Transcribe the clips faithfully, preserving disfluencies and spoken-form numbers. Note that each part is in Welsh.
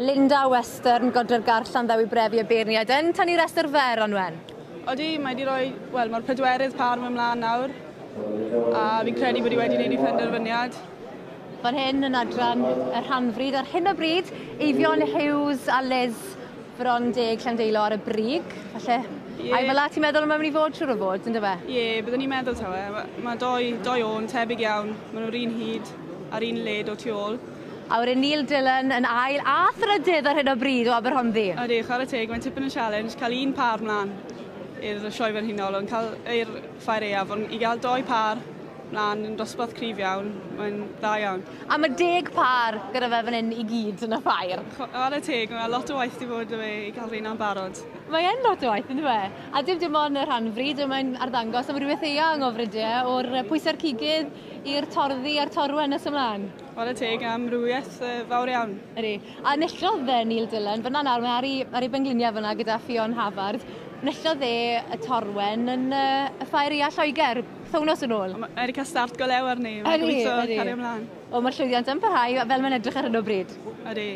Linda Western, Godre'r Garth, Llanddewi Brefi a beirniad yn tynnu restr fer, Anwen. Odi, mae wedi rhoi, wel, mae'r pedwerydd par mewn mlaen nawr, a fi'n credu bod hi wedi gwneud ei phenderfyniad. Fan hyn yn adran y rhanfrid ar hyn o bryd, Eifion Hughes a Liz Bron Deg Llandeilo ar y brig, falle. Ie. Ai fel 'a ti'n meddwl mae'n mynd i fod siŵr o fod, yndyfe? Ie, yeah, byddwn ni'n meddwl tawe. Mae ma doi, doi o'n tebyg iawn. Maen nhw'r un hyd a'r un led o tu ôl. A wedyn Neil Dillon yn ail a thrydydd ar hyn o bryd o Aberhonddu. Ydy, chwarae teg, mae'n tipyn o challenge cael un par mlaen i'r sioe frenhinol, ond cael i'r ffair aeaf, ond i gael doi par mlaen yn dosbarth cryf iawn, mae'n dda iawn. A mae deg par gyda fe fan hyn i gyd yn y ffair. Chwarae teg, mae lot o waith di bod 'da fe i gael rheina'n barod. Mae yn lot o waith, yndyfe? A dim dim ond y rhanfrid, mae'n arddangos am rhywbeth eang o fridiau, o'r pwysau'r cigydd i'r torddi a'r torwen nes ymlaen. Chwarae teg am amrywiaeth fawr iawn. Ydy. A enillodd e Neil Dillon, fyna nawr, mae ar ei, ar ei bengliniau fyna gyda Ffion Havard. Enillodd e y torwen yn uh, y ffair aeaf Lloegr, pythefnos yn ôl. Mae wedi cael start go lew arni, mae'n gobeithio cario ymlaen. O, mae'r llwyddiant yn parhau fel mae'n edrych ar hyn o bryd. Ydy.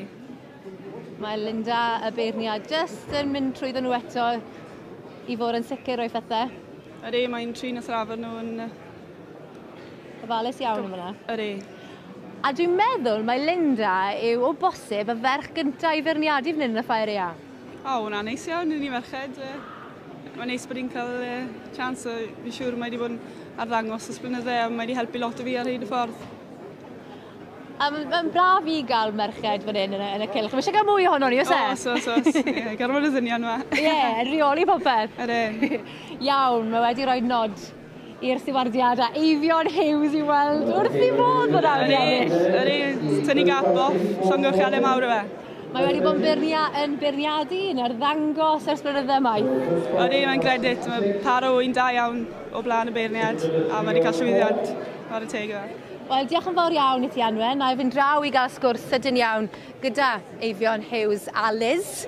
Mae Linda y beirniad jyst yn mynd trwyddo nhw eto i fod yn sicr o'i phethau. Ydy, mae'n trin a thrafod nhw yn... Ofalus iawn yma. Ydy. A dwi'n meddwl mai Linda yw o bosib y ferch gyntaf i feirniadu fan hyn yn y ffair aeaf. O, hwnna'n neis iawn i ni merched. Mae'n neis bod hi'n cael chance, a fi'n siŵr mae wedi bod yn arddangos ers blynydde a mae wedi helpu lot o fi ar hyd y ffordd. A mae'n braf i gael merched fan hyn yn y, yn y cylch. Mae eisiau cael mwy ohono ni, oes e? Oes, oes, oes. Ie, gormod o ddynion yma. Ie, yn rheoli popeth. Ydy. Iawn, mae wedi rhoi nod i'r stiwardiad a Eifion Hughes i weld wrth i fod bod awr i ennill. Ydy, tynnu gap off, llongyfarchiadau mawr o fe. Mae wedi bod yn beirnia, yn beirniadu, yn arddangos ers blynydde maith. Ydy, mae'n gredit. Mae par o ŵyn da iawn o blaen y beirniad a mae wedi cael llwyddiant ar y teg yma. Wel, diolch yn fawr iawn i ti, Anwen. Na i fynd draw i gael sgwrs sydyn iawn gyda Eifion Hughes a Liz.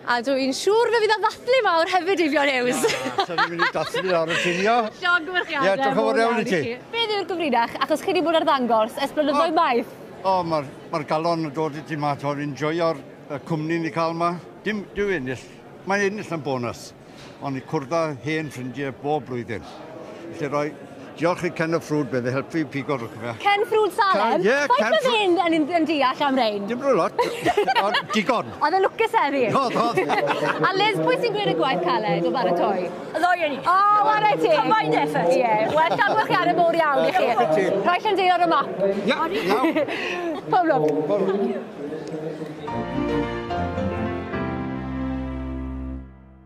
A dwi'n siŵr fe fydd o'n ddathlu mawr hefyd, Eifion Hughes. Na, sa'n ni'n mynd i dathlu ar y cinio. Llongyfarchiadau. Ie, diolch yn fawr iawn i ti. Beth yw'r gyfrinach? Achos chi wedi bod ar ddangos ers blynyddoedd maith. O, mae'r ma galon yn dod i ti ma, ti'n enjoyo'r cwmni ni cael ma. Dim, dyw ennill, mae'n ennill yn bonus, ond i cwrdd â hen ffrindiau bob blwyddyn. Felly roi, diolch i Ken y Ffrwd bydd e helpu pigo rhywbeth fe. Ken Ffrwd Salem? Ie, Ken Faint oedd hyn yn, yn deall am rein? Dim rhyw lot, ond digon. Oedd e'n lwcus heddi? Oedd, oedd. A Liz, pwy sy'n gwneud y gwaith caled o baratoi? Y ddoi o'n ni. O, whare teg. Combined effort. Ie, wel, llongyfarchiadau mowr iawn i chi. Rhoi Llandeilo ar y map. Ia, iawn. Pob lwc. Pob lwc.